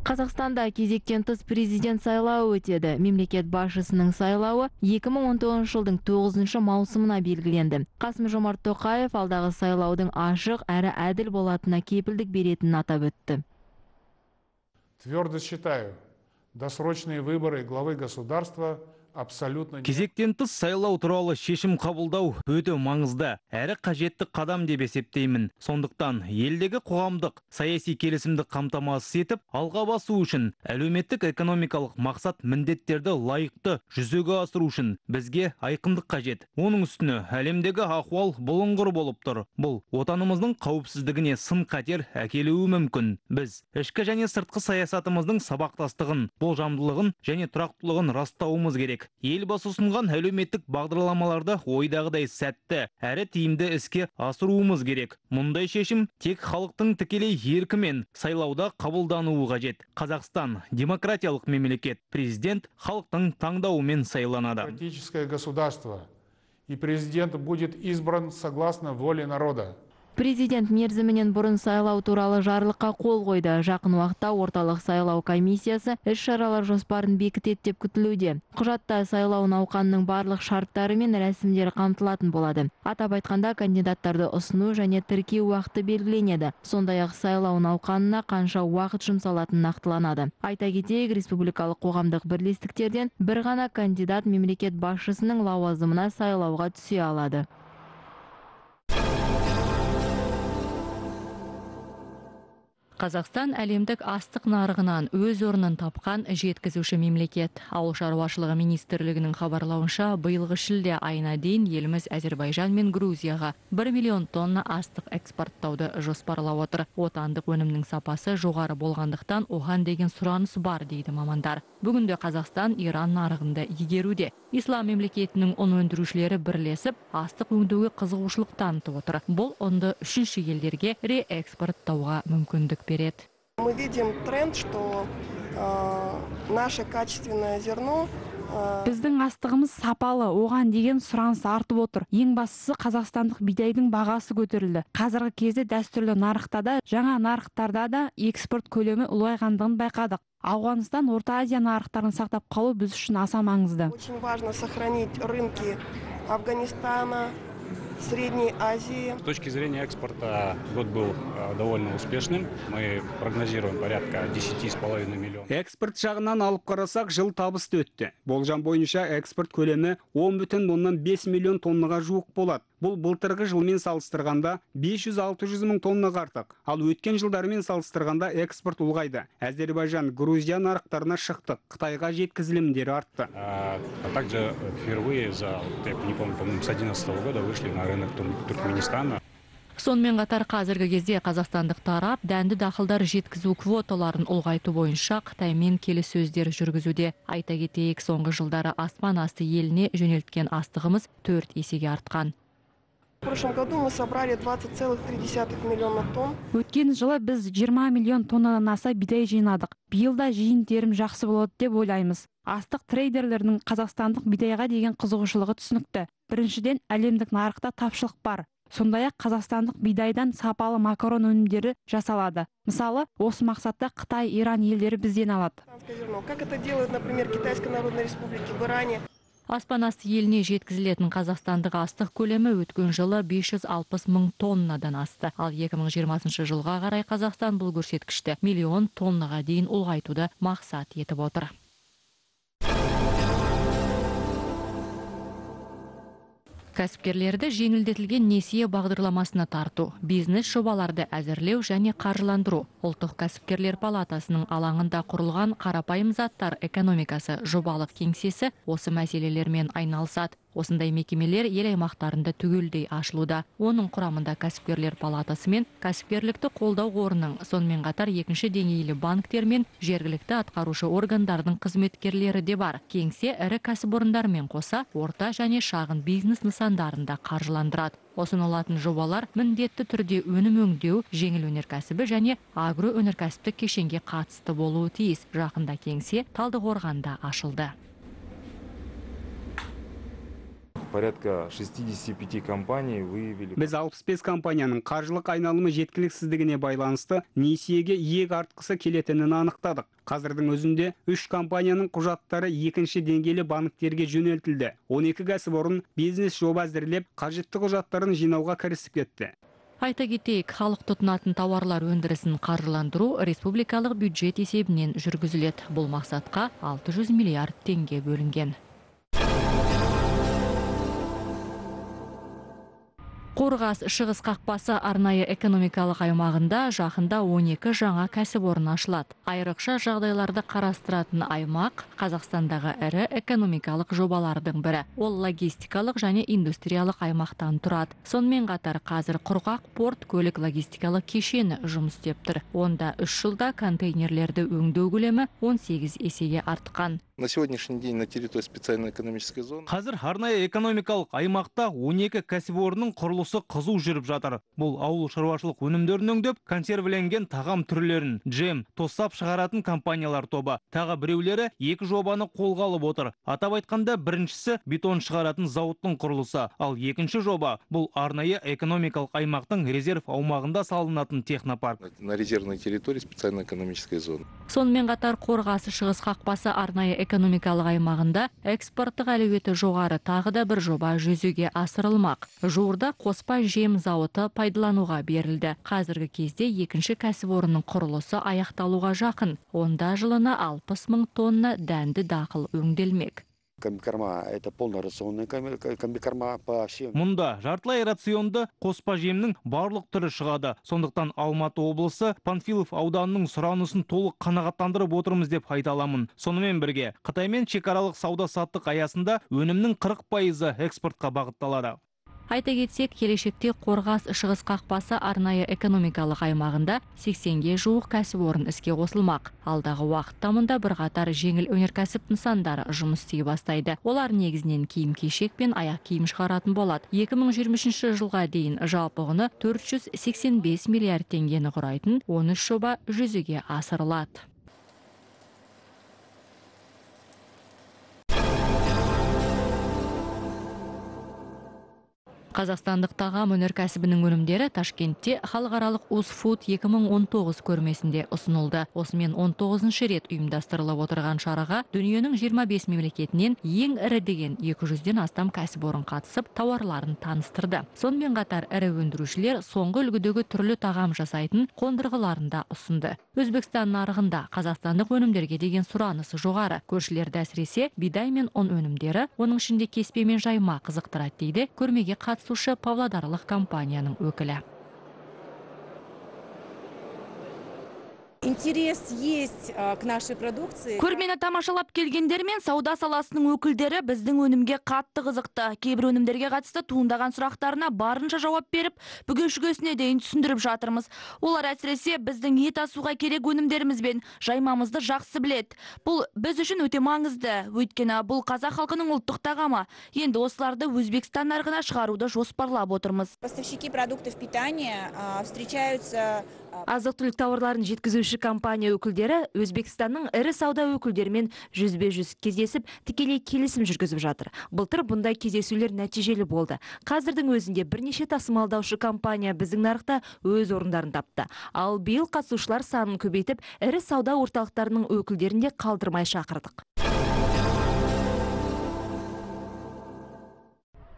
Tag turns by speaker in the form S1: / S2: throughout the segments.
S1: Қазақстанда кезектен тыс президент сайлауы өтеді. Мемлекет басшысының сайлауы 2019 жылдың 9 маусымына белгіленді. Қасым-Жомарт Тоқаев алдағы сайлаудың ашық әрі әділ болатынына кепілдік беретінін атап өтті.
S2: Твердо считаю, досрочные выборы главы государства абсолютно...
S3: Кезектен тыс сайлау туралы шешім қабылдау өте маңызды, әрі қажетті қадам деп есептеймін. Сондықтан елдегі қоғамдық саяси келісімді қамтамасыз етіп, алға басу үшін әлеуметтік экономикалық мақсат міндеттерді лайықты жүзеге асыру үшін бізге айқындық қажет. Оның үстіне әлемдегі ахуал бұлыңғыр болып тұр. Бұл отанымыздың қауіпсіздігіне сын қатер әкелуі мүмкін. Біз ішкі және сыртқы саясатымыздың сабақтастығын, болжамдылығын және тұрақтылығын растауымыз керек. Елбасы ұсынған әлеуметтік бағдарламаларды ойдағыдай сәтті әрі тиімді іске асыруымыз керек. Мұндай шешім тек халықтың тікелей еркімен сайлауда қабылдануы қажет. Қазақстан демократиялық мемлекет, президент халықтың таңдауымен сайланады.
S2: Демократическое государство, и президент будет избран согласно воле народа.
S1: Президент мерзімінен бұрын сайлау туралы жарлыққа қол қойды. Жақын уақытта орталық сайлау комиссиясы іс-шаралар жоспарын бекітеді деп күтілуде. Құжатта сайлау науқанының барлық шарттары мен рәсімдері қамтылатын болады. Атап айтқанда кандидаттарды ұсыну және тіркеу уақыты белгіленеді. Сондай-ақ сайлау науқанына қанша уақыт жұмсалатыны нақтыланады. Айта кетейік, республикалық қоғамдық бірлестіктерден бір ғана кандидат мемлекет басшысының лауазымына сайлауға түсе алады. Қазақстан әлемдік астық нарығынан өз орнын тапқан жеткізуші мемлекет. Ауыл шаруашылығы министрлігінің хабарлауынша, биылғы шілде айына дейін еліміз Әзербайжан мен Грузияға 1 миллион тонна астық экспорттауды жоспарлап отыр. Отандық өнімнің сапасы жоғары болғандықтан оған деген сұраныс бар дейді мамандар. Бүгінде Қазақстан Иран нарығында игеруде. Ислам мемлекетінің ұн өндірушілері бірлесіп, астық өңдеуге қызығушылық танытып отыр. Бұл ұнды үшінші елдерге реэкспорттауға мүмкіндік береді.
S4: Мы видим тренд, что наше качественное зерно
S5: Біздің астығымыз сапалы, оған деген сұраныс артып отыр. Ең бастысы қазақстандық бидайдың бағасы көтерілді. Қазіргі кезде дәстүрлі нарықта да, жаңа нарықтарда да экспорт көлемі ұлғайғандығын байқадық. Ауғанстан, Орта Азия нарықтарын сақтап қалу біз үшін аса маңызды.
S4: Очень важно сохранить рынки Афганистана, Средней Азии.
S6: С точки зрения экспорта год был довольно успешным. Мы прогнозируем порядка 10,5 миллионов.
S7: Экспорт жағынан алып қарасақ, жыл табысты өтті. Болжам бойынша экспорт көлемі 10,5 миллион тоннаға жуық болады. Бұл былтырғы жылмен салыстырғанда 500-600 мың тоннаға артық. Ал өткен жылдармен салыстырғанда экспорт ұлғайды. Әзербайжан, Грузия нарықтарына шықтық. Қытайға жеткізілімдері артты.
S6: А также впервые за, я не помню, с 2011 года вышли на рынок Туркменистана.
S1: Сонымен қатар қазіргі кезде қазақстандық тарап дәнді дақылдар жеткізу квоталарын ұлғайту бойынша Қытаймен келіссөздер жүргізуде. Айта кетейік, соңғы жылдары аспан асты еліне жөнелткен астығымыз 4 есеге артқан.
S4: В прошлом году мы собрали 20,3 миллиона тонн.
S5: Өткен жылы біз 20 миллион тоннадан аса бидай жинадық. Биылда жиын-терім жақсы болады деп ойлаймыз. Астық трейдерлерінің қазақстандық бидайға деген қызығушылығы түсінікті. Біріншіден, әлемдік нарықта тапшылық бар. Сондай-ақ қазақстандық бидайдан сапалы макарон өнімдері жасалады. Мысалы, осы мақсатта Қытай, Иран елдері бізден алады.
S4: Как это делают, например, Китайской Народной Республике в Иране?
S1: Аспан асты еліне жеткізілетін қазақстандық астық көлемі өткен жылы 560 мың тоннадан асты. Ал 2020 жылға қарай Қазақстан бұл көрсеткішті миллион тоннаға дейін ұлғайтуды мақсат етіп отыр. Кәсіпкерлерді жеңілдетілген несие бағдарламасына тарту, бизнес жобаларды әзірлеу және қаржыландыру. Ұлттық кәсіпкерлер палатасының алаңында құрылған қарапайым заттар экономикасы жобалық кеңсесі осы мәселелермен айналысады. Осындай мекемелер ел аймақтарында түгелдей ашылуда. Оның құрамында кәсіпкерлер палатасы мен кәсіпкерлікті қолдау қорының, сонымен қатар екінші деңгейлі банктер мен жергілікті атқарушы органдардың қызметкерлері де бар. Кеңсе ірі кәсіпорындармен қоса орта және шағын бизнес нысандарында қаржыландырады. Ұсынылатын жобалар міндетті түрде өнім өңдеу, жеңіл өнеркәсібі және агроөнеркәсіптік кешенге қатысты болуы тиіс. Жақында кеңсе Талдықорғанда ашылды.
S8: порядка 65 компаний выявили.
S7: Біз 65 компанияның қаржылық айналымы жеткіліксіздігіне байланысты несиеге иек артқысы келетінін анықтадық. Қазірдің өзінде 3 компанияның құжаттары екінші деңгейлі банктерге жөнелтілді. 12 кәсіпорын бизнес жоба әзірлеп, қажетті құжаттарын жинауға кірісіп кетті.
S1: Айта кетейік, халық тұтынатын тауарлар өндірісін қаржыландыру республикалық бюджет есебінен жүргізіледі. Бұл мақсатқа 600 миллиард теңге бөлінген. Қорғас шығыс қақпасы арнайы экономикалық аймағында жақында 12 жаңа кәсіпорын ашылады. Айрықша жағдайларды қарастыратын аймақ Қазақстандағы ірі экономикалық жобалардың бірі. Ол логистикалық және индустриялық аймақтан тұрады. Сонымен қатар қазір құрғақ порт көлік логистикалық кешені жұмыс істеп тұр. Онда 3 жылда контейнерлерді өңдеу көлемі 18 есеге артқан.
S9: На сегодняшний день на территории специальной экономической зоны.
S3: Қазір арнайы экономикалық аймақта 12 кәсіпорынның құрылысы қызу жүріп жатыр. Бұл ауыл шаруашылық өнімдерін өңдеп, консервіленген тағам түрлерін, джем, тосап шығаратын компаниялар тобы. Тағы біреулері 2 жобаны қолға алып отыр. Атап айтқанда, біріншісі бетон шығаратын зауыттың құрылысы, ал екінші жоба бұл арнайы экономикалық аймақтың резерв аумағында салынатын технопарк.
S9: На резервной территории специальной экономической зоны.
S1: Сонымен қатар Қорғасы шығыс қақпасы арнайы экономикалық аймағында экспорттық әлеуеті жоғары тағы да бір жоба жүзеге асырылмақ. Жуырда қоспа жем зауыты пайдалануға берілді. Қазіргі кезде екінші кәсіпорынның құрылысы аяқталуға жақын. Онда жылына 60 мың тонна дәнді дақыл өңделмек.
S10: Комбикорма – это полнорационная комбикорма по всем.
S3: Мұнда жартылай рационды қоспа жемнің барлық түрі шығады. Сондықтан Алматы облысы Панфилов ауданының сұранысын толық қанағаттандырып отырмыз деп айта аламын. Сонымен бірге, Қытаймен шекаралық сауда-саттық аясында өнімнің 40% экспортқа бағытталады.
S1: Айта кетсек, келешекте Қорғас шығыс қақпасы арнайы экономикалық аймағында 80-ге жуық кәсіпорын іске қосылмақ. Алдағы уақытта мұнда бірқатар жеңіл өнеркәсіп нысандары жұмыс істей бастайды. Олар негізінен киім-кешек пен аяқ киім шығаратын болады. 2023 жылға дейін жалпы құны 485 миллиард теңгені құрайтын 13 жоба жүзеге асырылады. Қазақстандық тағам өнеркәсібінің өнімдері Ташкентте халықаралық Узфуд 2019 көрмесінде ұсынылды. Осымен 19-шы рет ұйымдастырылып отырған шараға дүниенің 25 мемлекетінен ең ірі деген 200-ден астам кәсіпорын қатысып, тауарларын таныстырды. Сонымен қатар ірі өндірушілер соңғы үлгідегі түрлі тағам жасайтын қондырғыларын да ұсынды. Өзбекстан нарығында қазақстандық өнімдерге деген сұранысы жоғары. Көршілерді әсіресе бидай мен ұн өнімдері, оның ішінде кеспе мен жайма қызықтырады дейді көрмеге қатысушы павлодарлық компанияның өкілі.
S11: Интерес есть к нашей продукции.
S12: Көрмені тамашалап келгендер мен сауда саласының өкілдері біздің өнімге қатты қызықты. Кейбір өнімдерге қатысты туындаған сұрақтарына барынша жауап беріп, бүге-шүгесіне дейін түсіндіріп жатырмыз. Олар әсіресе біздің ет асуға керек өнімдеріміз бен жаймамызды жақсы біледі. Бұл біз үшін өте маңызды. Өйткені бұл қазақ халқының ұлттық тағамы. Енді осыларды Өзбекстан нарығына шығаруды жоспарлап отырмыз.
S11: Поставщики продуктов питания встречаются.
S12: Азық-түлік тауарларын жеткізуші компания өкілдері Өзбекстанның ірі сауда өкілдерімен жүзбе-жүз кездесіп, тікелей келісім жүргізіп жатыр. Былтыр бұндай кездесулер нәтижелі болды. Қазірдің өзінде бірнеше тасымалдаушы компания біздің нарықта өз орындарын тапты. Ал биыл қатысушылар санын көбейтіп, ірі сауда орталықтарының өкілдерін де қалдырмай шақырдық.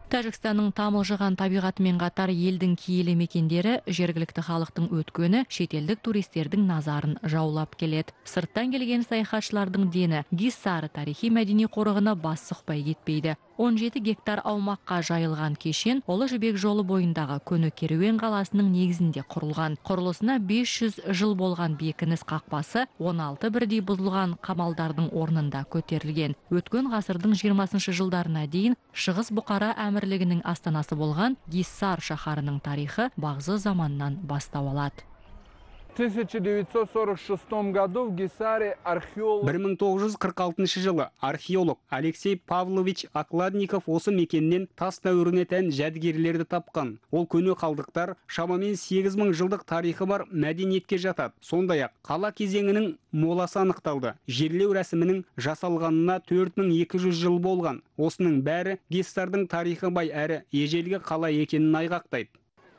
S1: Тәжікстанның тамылжыған табиғатымен қатар елдің киелі мекендері жергілікті халықтың өткені шетелдік туристердің назарын жаулап келеді. Сырттан келген саяхатшылардың дені Гиссар тарихи мәдени қорығына бас сұқпай кетпейді. 17 гектар аумаққа жайылған кешен Ұлы Жібек жолы бойындағы көне керуен қаласының негізінде құрылған. Құрылысына 500 жыл болған бекініс қақпасы 16 бірдей бұзылған қамалдардың орнында көтерілген. Өткен ғасырдың 20 жылдарына дейін Шығыс Бұқара әмірлігінің астанасы болған Гиссар шаһарының тарихы бағзы заманнан бастау алады.
S13: 1946 году в Гисаре археолог
S7: 1946 жылы археолог Алексей Павлович Окладников осы мекеннен тас дәуіріне тән жәдігерлерді тапқан. Ол көне қалдықтар шамамен 8000 жылдық тарихы бар мәдениетке жатады. Сондай-ақ қала кезеңінің моласы анықталды. Жерлеу рәсімінің жасалғанына 4200 жыл болған. Осының бәрі Гиссардың тарихы бай әрі ежелгі қала екенін айғақтайды.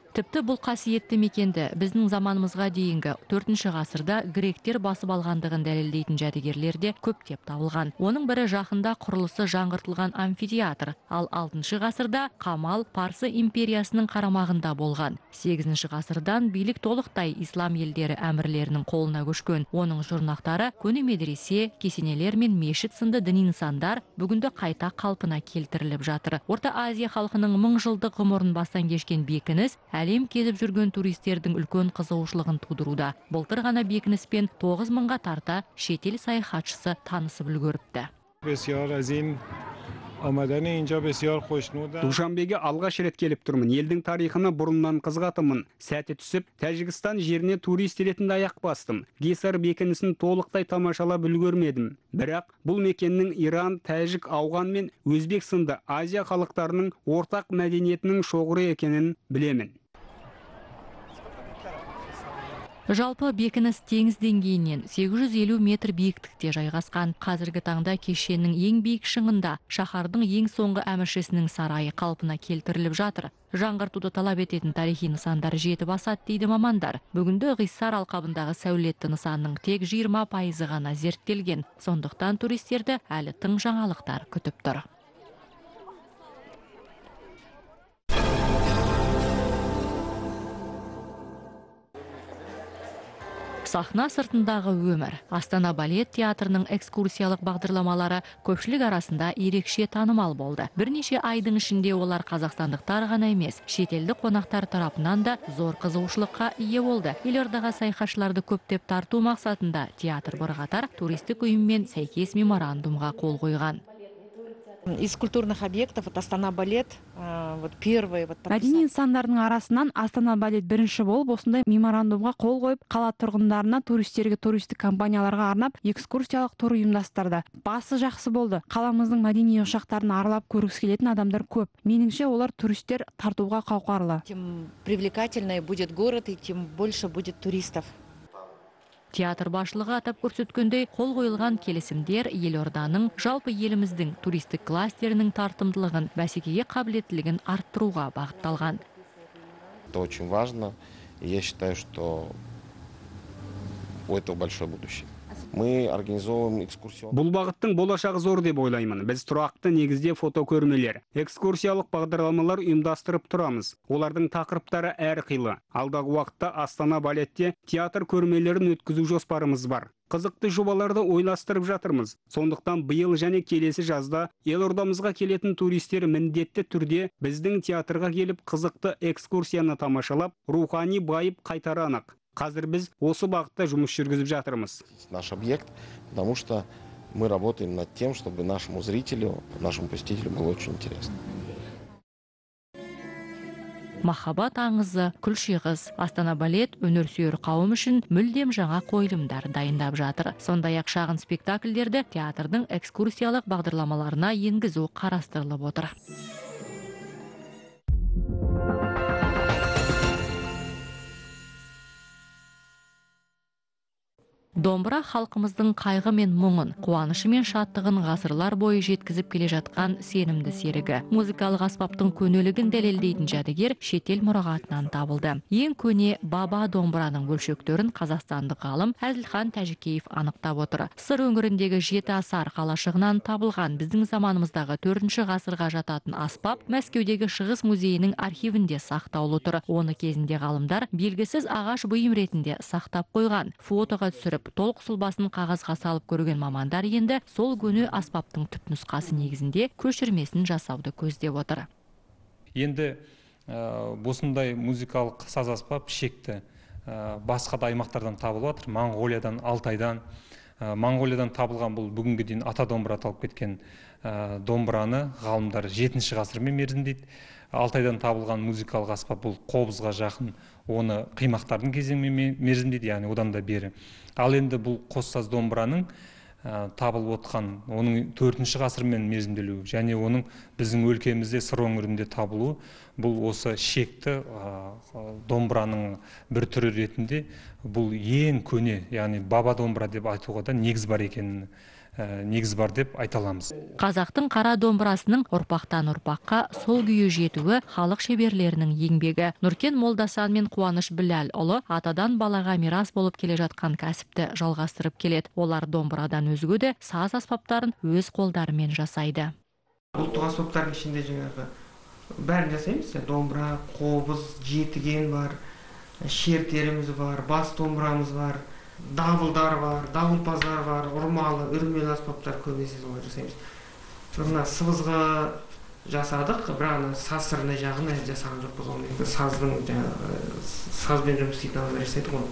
S1: Тіпті бұл қасиетті мекенді біздің заманымызға дейінгі 4-ші ғасырда гректер басып алғандығын дәлелдейтін жәдігерлерде көптеп табылған. Оның бірі жақында құрылысы жаңғыртылған амфитеатр, ал 6-ші ғасырда Қамал Парсы империясының қарамағында болған. 8-ші ғасырдан билік толықтай ислам елдері әмірлерінің қолына көшкен. Оның жұрнақтары көне медресе, кесенелер мен мешіт сынды діни нысандар бүгінді қайта қалпына келтіріліп жатыр. Орта Азия халқының 1000 жылдық ғұмырын бастан кешкен бекініс әлем кезіп жүрген туристердің үлкен қызығушылығын тудыруда. Былтыр ғана бекініспен 9000-ға тарта шетел саяхатшысы танысып үлгеріпті.
S7: Душанбеге алғаш рет келіп тұрмын. Елдің тарихына бұрыннан қызғатымын. Сәті түсіп, Тәжікстан жеріне турист ретінде аяқ бастым. Гисар бекінісін толықтай тамашалап үлгермедім. Бірақ бұл мекеннің Иран, Тәжік, Ауған мен Өзбек сынды Азия халықтарының ортақ мәдениетінің шоғыры екенін білемін.
S1: Жалпы бекініс теңіз деңгейінен 850 метр биіктікте жайғасқан. Қазіргі таңда кешеннің ең биік шыңында шаһардың ең соңғы әміршісінің сарайы қалпына келтіріліп жатыр. Жаңғыртуды талап ететін тарихи нысандар жетіп асады дейді мамандар. Бүгінде Гиссар алқабындағы сәулетті нысанның тек 20% ғана зерттелген. Сондықтан туристерді әлі тың жаңалықтар күтіп тұр. Сахна сыртындағы өмір. Астана балет театрының экскурсиялық бағдарламалары көпшілік арасында ерекше танымал болды. Бірнеше айдың ішінде олар қазақстандықтар ғана емес, шетелдік қонақтар тарапынан да зор қызығушылыққа ие болды. Елордаға саяхатшыларды көптеп тарту мақсатында театр бірқатар туристік ұйыммен сәйкес меморандумға қол қойған.
S14: Из культурных объектов Астана балет первый.
S5: Мәдени нысандардың арасынан Астана балет бірінші болып осындай меморандумға қол қойып, қала тұрғындарына, туристерге, туристік компанияларға арнап экскурсиялық тур ұйымдастырды. Басы жақсы болды. Қаламыздың мәдени ошақтарын аралап көргісі келетін адамдар көп. Меніңше олар туристер тартуға қауқарлы.
S14: Тем привлекательнее будет город и тем больше будет туристов.
S1: Театр басшылығы атап көрсеткендей, қол қойылған келісімдер елорданың жалпы еліміздің туристік кластерінің тартымдылығын, бәсекеге қабілеттілігін арттыруға бағытталған.
S9: Это очень важно. Я считаю, что у этого большое будущее. Мы организовываем экскурсию.
S7: Бұл бағыттың болашағы зор деп ойлаймын. Біз тұрақты негізде фотокөрмелер, экскурсиялық бағдарламалар ұйымдастырып тұрамыз. Олардың тақырыптары әрқилы. Алдағы уақытта Астана балетте театр көрмелерін өткізу жоспарымыз бар. Қызықты жобаларды ойластырып жатырмыз. Сондықтан биыл және келесі жазда елордамызға келетін туристер міндетті түрде біздің театрға келіп қызықты экскурсияны тамашалап, рухани байып қайтары анық. Қазір біз осы бағытта жұмыс жүргізіп жатырмыз.
S9: Наш объект, потому что мы работаем над тем, чтобы нашему зрителю, нашему посетителю было очень интересно.
S1: Махаббат аңызы, күлшиғыз, Астана балет өнерсүйер қауым үшін мүлдем жаңа қойылымдар дайындап жатыр. Сондай-ақ шағын спектакльдерді театрдың экскурсиялық бағдарламаларына енгізу қарастырылып отыр. Домбыра халқымыздың қайғы мен мұңын, қуанышы мен шаттығын ғасырлар бойы жеткізіп келе жатқан сенімді серігі. Музыкалық аспаптың көнелігін дәлелдейтін жәдігер шетел мұрағатынан табылды. Ең көне баба домбыраның бөлшектерін қазақстандық ғалым Әзілхан Тәжікеев анықтап отыр. Сыр өңіріндегі Жеті Асар қалашығынан табылған біздің заманымыздағы 4-ші ғасырға жататын аспап Мәскеудегі Шығыс музейінің архивінде сақтаулы тұр. Оны кезінде ғалымдар белгісіз ағаш бұйым ретінде сақтап қойған. Фотоға түсіріп толық сұлбасын қағазға салып көрген мамандар енді сол көне аспаптың түпнұсқасы негізінде көшірмесін жасауды көздеп отыр.
S15: Енді осындай музыкалық саз аспап шекті басқа да аймақтардан табылып жатыр. Моңғолиядан, Алтайдан, Моңғолиядан табылған бұл бүгінгі дейін ата домбыра аталып кеткен домбыраны ғалымдар 7-ші ғасырмен мерзімдейді. Алтайдан табылған музыкалық аспап бұл қобызға жақын, оны қимақтардың кезеңімен мерзімдейді, яғни одан да бері. Ал енді бұл қоссаз домбыраның табылып отқан, оның 4-ші ғасырмен мерзімделуі және оның біздің өлкемізде сыр өңірінде табылуы, бұл осы шекті домбыраның бір түрі ретінде бұл ең көне, яғни баба домбыра деп айтуға да негіз бар деп айта аламыз.
S1: Қазақтың қара домбырасының ұрпақтан ұрпаққа сол күйі жетуі халық шеберлерінің еңбегі. Нұркен Молдасан мен Қуаныш Біләлұлы атадан балаға мирас болып келе жатқан кәсіпті жалғастырып келеді. Олар домбырадан өзге де саз аспаптарын өз қолдарымен жасайды.
S16: Ұлттық аспаптардың ішінде жаңағы бәрін жасаймыз. Домбыра, қобыз, жетіген бар, шертеріміз бар, бас домбырамыз бар, давылдар бар, давылпаздар бар, ұрмалы, үрмелі аспаптар көбінесе солай жасаймыз. Мына сыбызғы жасадық, бірақ сазсырына жағын жасаған жоқпыз. Сазбен жұмыс істейтін адамдар жасайды ғой.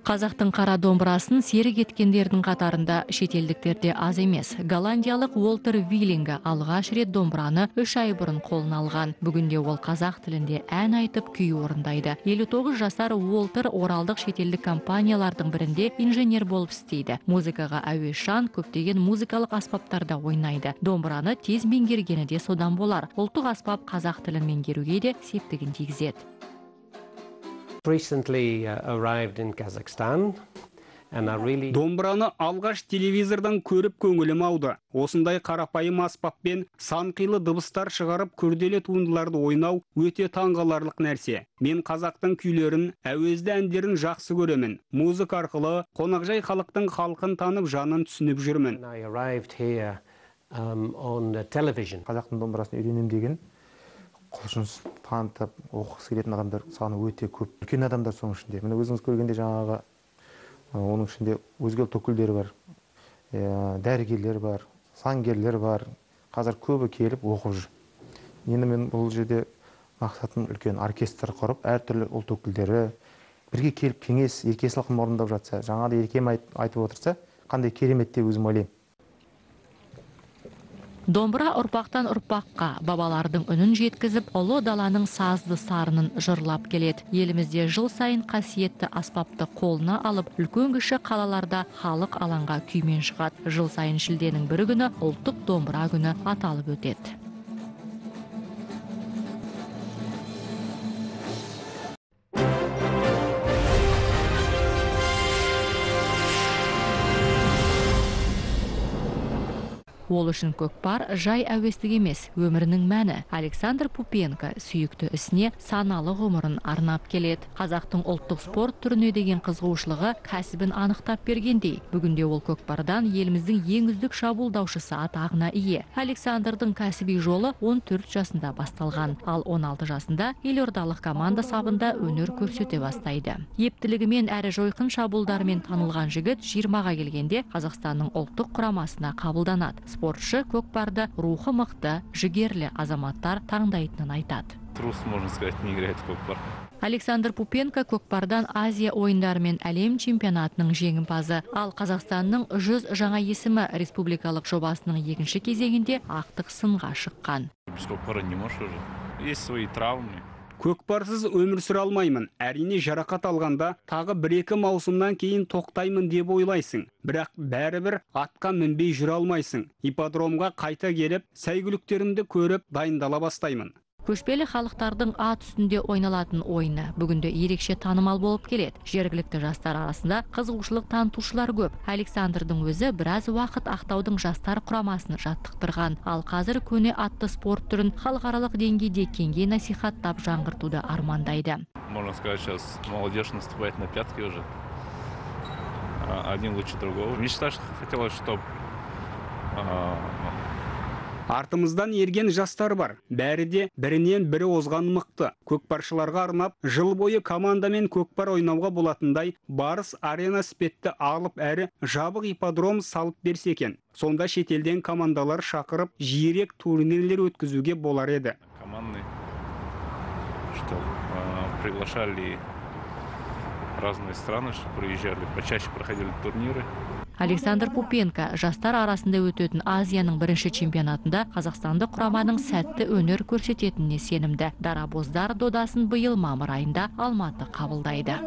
S1: Қазақтың қара домбырасын серік еткендердің қатарында шетелдіктерде аз емес. Голландиялық Уолтер Виллингі алғаш рет домбыраны 3 ай бұрын қолына алған. Бүгінде ол қазақ тілінде ән айтып күй орындайды. 59 жасар Уолтер оралдық шетелдік компаниялардың бірінде инженер болып істейді. Музыкаға әуесжан, көптеген музыкалық аспаптарда ойнайды. Домбыраны тез меңгергені де содан болар. Ұлттық аспап қазақ тілін меңгеруге де септігін тигізеді.
S7: Домбыраны алғаш телевизордан көріп көңілім ауды. Осындай қарапайым аспаппен сан қилы дыбыстар шығарып күрделі туындыларды ойнау өте таңғаларлық нәрсе. Мен қазақтың күйлерін, әуезді әндерін жақсы көремін. Музыка арқылы қонақжай халықтың халқын танып, жанын түсініп жүрмін.
S17: Қазақтың домбырасын үйренем деген құлшыныс танытып оқығысы келетін адамдар саны өте көп. Үлкен адамдар соның ішінде. Міне өзіңіз көргенде жаңағы оның ішінде өзге ұлт өкілдері бар, дәрігерлер бар, заңгерлер бар. Қазір көбі келіп оқып жүр. Енді мен бұл жерде мақсатым үлкен оркестр құрып, әртүрлі ұлт өкілдері бірге келіп кеңес, ерке салқын орындап жатса, жаңағыдай еркем айтып отырса, қандай керемет деп өзім ойлаймын.
S1: Домбыра ұрпақтан ұрпаққа бабалардың үнін жеткізіп, ұлы даланың сазды сарынын жырлап келеді. Елімізде жыл сайын қасиетті аспапты қолына алып, үлкен-кіші қалаларда халық алаңға күймен шығады. Жыл сайын шілденің 1 күні ұлттық домбыра күні аталып өтеді. Ол үшін көкпар жай әуестік емес, өмірінің мәні. Александр Пупенко сүйікті ісіне саналы ғұмырын арнап келеді. Қазақтың ұлттық спорт түріне деген қызығушылығы кәсібін анықтап бергендей. Бүгінде ол көкпардан еліміздің ең үздік шабуылдаушысы атағына ие. Александрдың кәсіби жолы 14 жасында басталған, ал 16 жасында елордалық команда сабында өнер көрсете бастайды. Ептілігімен әрі жойқын шабуылдарымен танылған жігіт 20-ға келгенде Қазақстанның ұлттық құрамасына қабылданады. Спортшы көкпарды рухы мықты, жігерлі азаматтар таңдайтынын айтады.
S18: Трус, можно сказать, не играет в көкпар.
S1: Александр Пупенко көкпардан Азия ойындары мен әлем чемпионатының жеңімпазы. Ал Қазақстанның 100 жаңа есімі республикалық жобасының 2-ші кезеңінде ақтық сынға шыққан.
S18: Без көкпара не можешь уже. Есть свои травмы.
S7: Көкпарсыз өмір сүре алмаймын. Әрине жарақат алғанда тағы 1-2 маусымнан кейін тоқтаймын деп ойлайсың. Бірақ бәрібір атқа мінбей жүре алмайсың. Ипподромға қайта келіп, сәйгүліктерімді көріп дайындала бастаймын.
S1: Көшпелі халықтардың ат үстінде ойналатын ойыны бүгінде ерекше танымал болып келеді. Жергілікті жастар арасында қызығушылық танытушылар көп. Александрдың өзі біраз уақыт Ақтаудың жастар құрамасын жаттықтырған. Ал қазір көне атты спорт түрін халықаралық деңгейде кеңге насихаттап жаңғыртуды армандайды.
S18: Можно сказать, сейчас молодежь наступает на пятки уже. Один лучше другого. Мечта хотелось, чтобы
S7: Артымыздан ерген жастар бар. Бәрі де бірінен бірі озған мықты. Көкпаршыларға арнап, жыл бойы командамен көкпар ойнауға болатындай Барыс арена спетті алып әрі жабық ипподром салып берсе екен. Сонда шетелден командалар шақырып, жиірек турнирлер өткізуге болар еді.
S18: Команды, что приглашали разные страны, что приезжали, почаще проходили турниры.
S1: Александр Пупенко жастар арасында өтетін Азияның бірінші чемпионатында қазақстандық құраманың сәтті өнер көрсететініне сенімді. Дарабоздар додасын биыл мамыр айында Алматы қабылдайды.